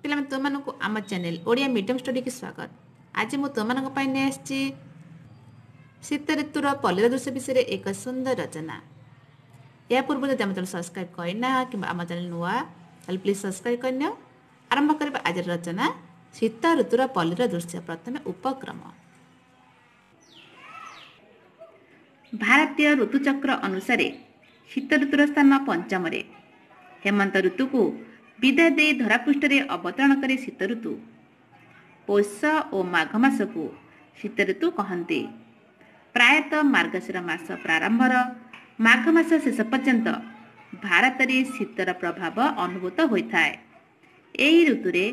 ପିଲାମାନେ, ତୁମମାନଙ୍କୁ ଆମ ଚ୍ୟାନେଲ ଓଡ଼ିଆ ମିଡ଼ିୟମ୍ ଷ୍ଟଡିକି ସ୍ୱାଗତ। ଆଜି ମୁଁ ତୁମମାନଙ୍କ ପାଇଁ ନେଇ ଆସିଛି ଶୀତ ଋତୁର ପଲ୍ଲୀର ଦୃଶ୍ୟ ବିଷୟରେ ଏକ ସୁନ୍ଦର ରଚନା। ଏହା ପୂର୍ବରୁ ଯଦି ଆମ ଚ୍ୟାନେଲ ସବସ୍କ୍ରାଇବ୍ କରିନାହ କିମ୍ବା ଆମ ଚ୍ୟାନେଲ ନୂଆ, ତାହେଲେ ପ୍ଲିଜ୍ ସବସ୍କ୍ରାଇବ୍ କରିନିଅ। ଆରମ୍ଭ କରିବା ଆଜିର ରଚନା ଶୀତ ଋତୁର ପଲ୍ଲୀର ଦୃଶ୍ୟ। ପ୍ରଥମେ ଉପକ୍ରମ। ଭାରତୀୟ ଋତୁଚକ୍ର ଅନୁସାରେ ଶୀତ ଋତୁର ସ୍ଥାନ ପଞ୍ଚମରେ। ହେମନ୍ତ ଋତୁକୁ ବିଦାୟ ଦେଇ ଧରାପୃଷ୍ଠରେ ଅବତରଣ କରେ ଶୀତ ଋତୁ। ପୌଷ ଓ ମାଘ ମାସକୁ ଶୀତ ଋତୁ କହନ୍ତି। ପ୍ରାୟତଃ ମାର୍ଗଶିର ମାସ ପ୍ରାରମ୍ଭର ମାଘ ମାସ ଶେଷ ପର୍ଯ୍ୟନ୍ତ ଭାରତରେ ଶୀତର ପ୍ରଭାବ ଅନୁଭୂତ ହୋଇଥାଏ। ଏହି ଋତୁରେ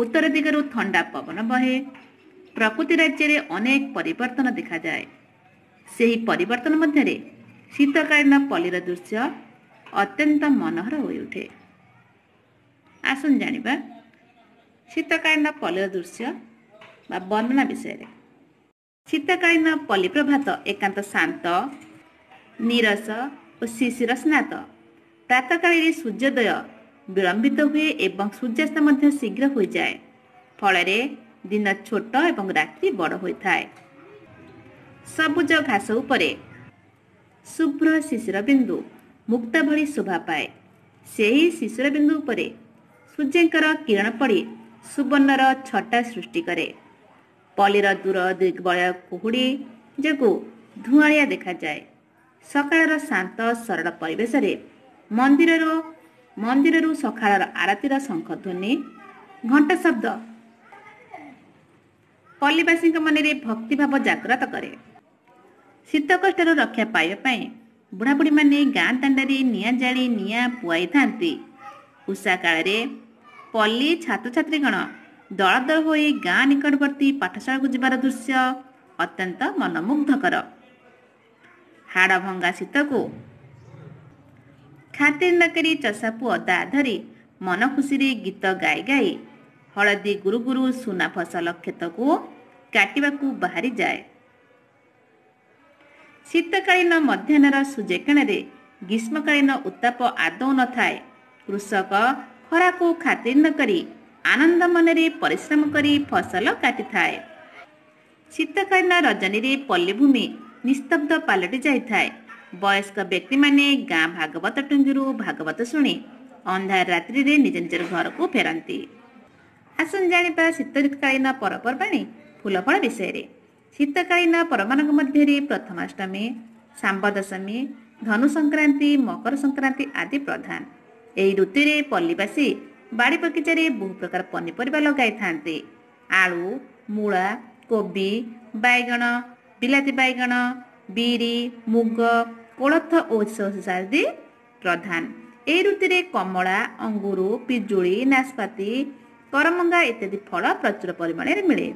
ଉତ୍ତର ଦିଗରୁ ଥଣ୍ଡା ପବନ ବହେ। ପ୍ରକୃତି ରାଜ୍ୟରେ ଅନେକ ପରିବର୍ତ୍ତନ ଦେଖାଯାଏ। ସେହି ପରିବର୍ତ୍ତନ ମଧ୍ୟରେ ଶୀତକାଳୀନ ପଲ୍ଲୀର ଦୃଶ୍ୟ ଅତ୍ୟନ୍ତ ମନୋହର ହୋଇଉଠେ। ଆସନ୍ତୁ ଜାଣିବା ଶୀତକାଳୀନ ପଲ୍ଲୀର ଦୃଶ୍ୟ ବା ବର୍ଣ୍ଣନା ବିଷୟରେ। ଶୀତକାଳୀନ ପଲ୍ଲୀ ପ୍ରଭାତ ଏକାନ୍ତ ଶାନ୍ତ, ନୀରସ ଓ ଶିଶିର ସ୍ନାତ। ପ୍ରାତଃକାଳରେ ସୂର୍ଯ୍ୟୋଦୟ ବିଳମ୍ବିତ ହୁଏ ଏବଂ ସୂର୍ଯ୍ୟାସ୍ତ ମଧ୍ୟ ଶୀଘ୍ର ହୋଇଯାଏ। ଫଳରେ ଦିନ ଛୋଟ ଏବଂ ରାତ୍ରି ବଡ଼ ହୋଇଥାଏ। ସବୁଜ ଘାସ ଉପରେ ଶୁଭ୍ର ଶିଶିର ବିନ୍ଦୁ ମୁକ୍ତା ଭଳି ଶୋଭା ପାଏ। ସେହି ଶିଶିର ବିନ୍ଦୁ ଉପରେ ସୂର୍ଯ୍ୟଙ୍କର କିରଣ ପଡ଼ି ସୁବର୍ଣ୍ଣର ଛଟା ସୃଷ୍ଟି କରେ। ପଲ୍ଲୀର ଦୂର ଦିଗ୍ବଳୟ କୁହୁଡ଼ି ଯୋଗୁଁ ଧୂଆଁଳିଆ ଦେଖାଯାଏ। ସକାଳର ଶାନ୍ତ ସରଳ ପରିବେଶରେ ମନ୍ଦିରରୁ ସକାଳର ଆରତୀର ଶଙ୍ଖଧ୍ୱନି, ଘଣ୍ଟ ଶବ୍ଦ ପଲ୍ଲୀବାସୀଙ୍କ ମନରେ ଭକ୍ତିଭାବ ଜାଗ୍ରତ କରେ। ଶୀତ କଷ୍ଟରୁ ରକ୍ଷା ପାଇବା ପାଇଁ ବୁଢ଼ାବୁଢ଼ୀମାନେ ଗାଁ ଦାଣ୍ଡରେ ନିଆଁ ଜାଳି ନିଆଁ ପୁଆଇଥାନ୍ତି। ଉଷା କାଳରେ ପଲ୍ଲୀ ଛାତ୍ରଛାତ୍ରୀଗଣ ଦଳ ଦଳ ହୋଇ ଗାଁ ନିକଟବର୍ତ୍ତୀ ପାଠଶାଳାକୁ ଯିବାର ଦୃଶ୍ୟ ଅତ୍ୟନ୍ତ ମନମୁଗ୍ଧକର। ହାଡ଼ ଭଙ୍ଗା ଶୀତକୁ ଖାତିର ନକରି ଚଷା ପୁଅ ଦା ଧରି ମନ ଖୁସିରେ ଗୀତ ଗାଇ ଗାଇ ହଳଦୀ ଗୁରୁ ଗୁରୁ ସୁନା ଫସଲ କ୍ଷେତକୁ କାଟିବାକୁ ବାହାରିଯାଏ। ଶୀତକାଳୀନ ମଧ୍ୟାହ୍ନର ସୂର୍ଯ୍ୟକିରଣରେ ଗ୍ରୀଷ୍ମକାଳୀନ ଉତ୍ତାପ ଆଦୌ ନଥାଏ। କୃଷକ ଖରାକୁ ଖାତିର ନକରି ଆନନ୍ଦ ମନରେ ପରିଶ୍ରମ କରି ଫସଲ କାଟିଥାଏ। ଶୀତକାଳୀନ ରଜନୀରେ ପଲ୍ଲୀଭୂମି ନିସ୍ତବ୍ଧ ପାଲଟି ଯାଇଥାଏ। ବୟସ୍କ ବ୍ୟକ୍ତିମାନେ ଗାଁ ଭାଗବତ ଟୁଙ୍ଗିରୁ ଭାଗବତ ଶୁଣି ଅନ୍ଧାର ରାତ୍ରିରେ ନିଜ ନିଜର ଘରକୁ ଫେରନ୍ତି। ଆସନ୍ତୁ ଜାଣିବା ଶୀତକାଳୀନ ପର୍ବପର୍ବାଣୀ ଫୁଲ ଫଳ ବିଷୟରେ। ଶୀତକାଳୀନ ପର୍ବମାନଙ୍କ ମଧ୍ୟରେ ପ୍ରଥମାଷ୍ଟମୀ, ଶାମ୍ବଦଶମୀ, ଧନୁ ସଂକ୍ରାନ୍ତି, ମକର ସଂକ୍ରାନ୍ତି ଆଦି ପ୍ରଧାନ। ଏହି ଋତୁରେ ପଲ୍ଲୀବାସୀ ବାଡ଼ି ବଗିଚାରେ ବହୁ ପ୍ରକାର ପନିପରିବା ଲଗାଇଥାନ୍ତି। ଆଳୁ, ମୂଳା, କୋବି, ବାଇଗଣ, ବିଲାତି ବାଇଗଣ, ବିରି, ମୁଗ, କୋଳଥ ଓ ସୋରିଷ ଆଦି ପ୍ରଧାନ। ଏହି ଋତୁରେ କମଳା, ଅଙ୍ଗୁର, ପିଜୁଳି, ନାସପାତି, କରମଙ୍ଗା ଇତ୍ୟାଦି ଫଳ ପ୍ରଚୁର ପରିମାଣରେ ମିଳେ।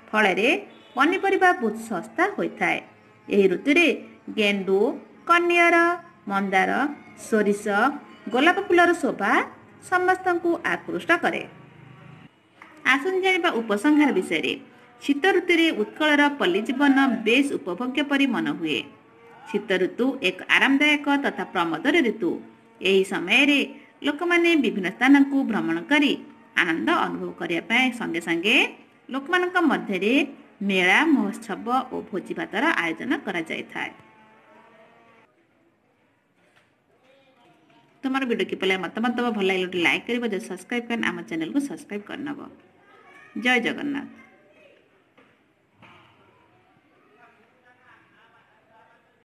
ଫଳରେ ପନିପରିବା ବହୁତ ଶସ୍ତା ହୋଇଥାଏ। ଏହି ଋତୁରେ ଗେଣ୍ଡୁ, କନିଅର, ମନ୍ଦାର, ସୋରିଷ, ଗୋଲାପ ଫୁଲର ଶୋଭା ସମସ୍ତଙ୍କୁ ଆକୃଷ୍ଟ କରେ। ଆସନ୍ତୁ ଜାଣିବା ଉପସଂହାର ବିଷୟରେ। ଶୀତ ଋତୁରେ ଉତ୍କଳର ପଲ୍ଲୀ ଜୀବନ ବେଶ ଉପଭୋଗ୍ୟ ପରି ମନ ହୁଏ। ଶୀତ ଋତୁ ଏକ ଆରାମଦାୟକ ତଥା ପ୍ରମୋଦର ଋତୁ। ଏହି ସମୟରେ ଲୋକମାନେ ବିଭିନ୍ନ ସ୍ଥାନକୁ ଭ୍ରମଣ କରି ଆନନ୍ଦ ଅନୁଭବ କରିବା ପାଇଁ ସଙ୍ଗେ ସଙ୍ଗେ ଲୋକମାନଙ୍କ ମଧ୍ୟରେ ମେଳା, ମହୋତ୍ସବ ଓ ଭୋଜିଭାତର ଆୟୋଜନ କରାଯାଇଥାଏ। ତୁମର ଭିଡ଼ିଓ କିପରି ଲାଗେ ମତାମତ ଦେବ। ଭଲ ଲାଗିଲେ ଗୋଟେ ଲାଇକ୍ କରିବ। ଯଦି ସବସ୍କ୍ରାଇବ୍ କରିନ, ଆମ ଚ୍ୟାନେଲକୁ ସବସ୍କ୍ରାଇବ୍ କରିନେବ। ଜୟ ଜଗନ୍ନାଥ।